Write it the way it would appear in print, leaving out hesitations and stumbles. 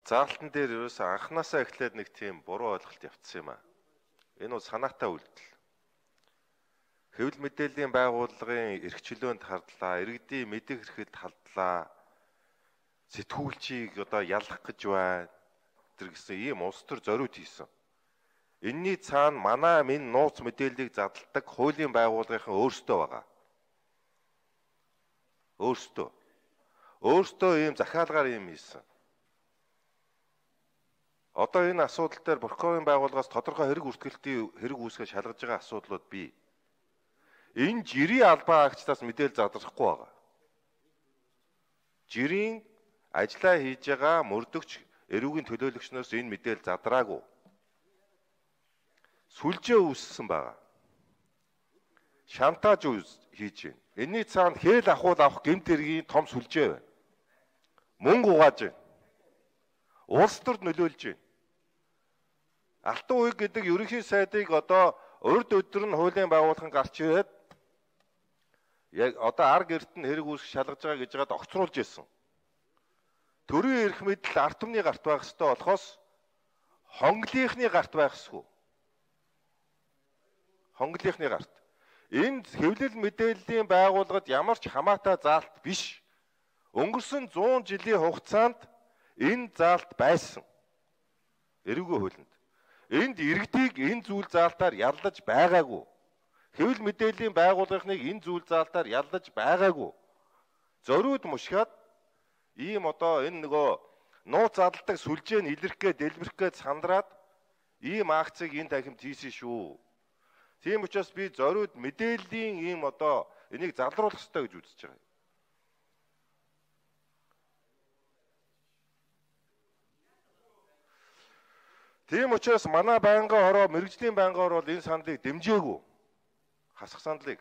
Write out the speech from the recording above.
заалтан дээр ерөөсөө анханасаа эхлээд нэг тийм буруу ойлголт явцсан юм аа. Энэ бол санаатай үйлдэл. Хэвлэл мэдээллийн байгууллагын эрх чөлөөнд хардлаа, иргэдийн мэдэх эрхэлд халдлаа, сэтгүүлчийг одоо ялах гэж байна. Тэр гэсэн ийм улс төр зориуд хийсэн. Энийний цаана манай минь нууц мэдээллийг задалдаг хуулийн байгууллагын өөрсдөө байгаа. Өөрсдөө ийм захиалгаар ийм хийсэн. Одоо энэ асуудал дээр прокурорын байгууллагаас тодорхой хэрэг үртгэлтийн хэрэг үүсгэж шалгаж байгаа асуудлууд бий. Энэ жирийн албан агчдаас мэдээлэл задрахгүй байгаа. Жирийн ажиллаа хийж байгаа мөрдөгч эрүүгийн төлөөлөгчнөөс энэ мэдээлэл задраагүй. Сүлжээ үүссэн байгаа. Шантаж хийж байна. Энийний цаана хээл ахуул авах гэмт хэргийн том сүлжээ байна. Мөнгө угааж байна. Улс төрд нөлөөлж байна. Алтан уяг гэдэг ерөнхий сайдыг одоо урд өдөр нь хуулийн байгууллагын гарч ирээд яг одоо арга эрт нь хэрэг үүсгэж шалгаж байгаа гэж байгаад огцруулж ирсэн. Төрийн эрх мэдэл ард түмний гарт байх ёстой болохоос хонглийнхны гарт байх ёсгүй. Хонглийнхны гарт. Энэ хэвлэл мэдээллийн байгууллагад ямар ч хамаатай заалт биш. Өнгөрсөн 100 жилийн хугацаанд энэ заалт байсан. Эрүүгийн хуулинд. Энд иргэдийг энэ зүйл заалтаар яллаж байгаагүй. Хэвлэл мэдээллийн байгууллагыг энэ зүйл заалтаар яллаж байгаагүй. Зориуд мушгаад ийм одоо энэ нөгөө нууц задалдаг сүлжээ нь илэрх гээд дэлбэрэх гээд сандраад ийм акцыг энэ тахимд хийсэн шүү. Тийм учраас би зориуд мэдээллийн ийм одоо энийг залруулах ёстой гэж үзэж байгаа. Тийм учраас манай байнгын хороо, мэрэгжлийн байнгын хороо бол энэ саналыг дэмжээгүй. Хасах саналыг.